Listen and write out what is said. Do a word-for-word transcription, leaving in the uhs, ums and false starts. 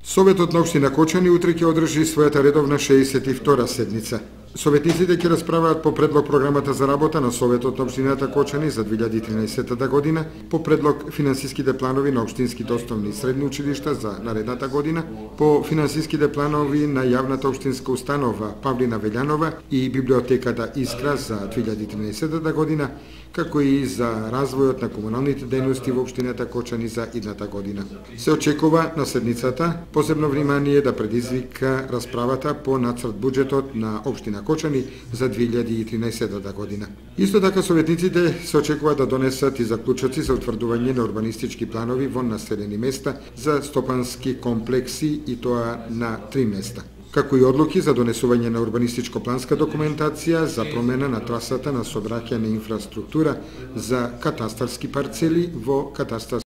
Советот на општина Кочани утре ќе одржи својата редовна шеесет и втора седница. Советниците ќе расправаат по предлог програмата за работа на Советот на општината Кочани за две илјади и тринаесета година, по предлог финансиските планови на општинските основни и средни училишта за наредната година, по финансиските планови на јавната општинска установа Павлина Велјанова и библиотеката Искра за две илјади и тринаесета година, како и за развојот на комуналните дејности во општината Кочани за идната година. Се очекува на седницата посебно внимание да предизвика расправата по нацрт буџетот на општина Кочани за две илјади и тринаесета година. Исто така советниците се очекува да донесат и заклучоци за утврдување на урбанистички планови во населени места за стопански комплекси и тоа на три места, како и одлуки за донесување на урбанистичко-планска документација за промена на трасата на сообраќајна инфраструктура за катастарски парцели во катастарски